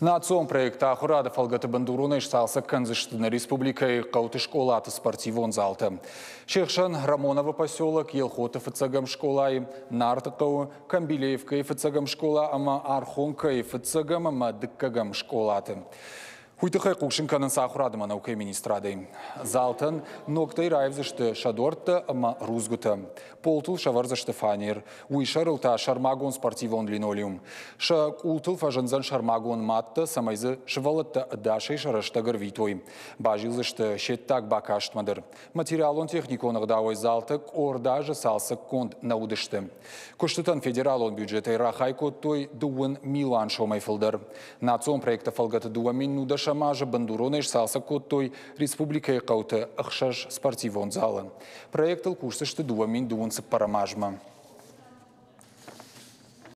Национ проект «Ахуырады» фӕлгӕты бындуронӕй сцалцӕг кӕндзысты нӕ республикӕйы хъӕуты скъолаты спортивон залтӕ. Се хсӕн Рамоновы поселок, Елхоты фыццӕгӕм скъолайы, Нарты хъӕуы, Камбилеевкӕйы фыццӕгӕм скъола ӕмӕ Архонкӕйы фыццӕгӕм ӕмӕ дыккӕгӕм скъолаты. Уый тыххӕй хъусын кӕнынц ахуырады ӕмӕ наукӕйы министрадӕй. Залтӕн ногтӕй раивдзысты сӕ дуӕрттӕ ӕмӕ рудзгуытӕ. Полтыл сӕвӕрдзысты фанер, уый сӕрыл та сӕрмагонд спортивон линолеум. Сӕ къултыл фӕзындзӕн сӕрмагонд маттӕ, цӕмӕй дзы сывӕллӕттӕ ӕдасӕй сӕ рӕстӕг ӕрвитой. Базилдзысты се ддаг бакастмӕ дӕр. Материалон-техникон ӕгъдауӕй залтӕ къорд азы цалцӕггонд нӕ уыдысты. Куыстытӕн федералон бюджетӕй рахай кодтой 2 милуан сомӕй фылдӕр. Национ проекты фӕлгӕты 2010 азы бындуронӕй сцалцӕг кодтой республикӕйы хъӕуты ӕхсӕз спортивон залы. Проектыл кусдзысты 2024 азмӕ.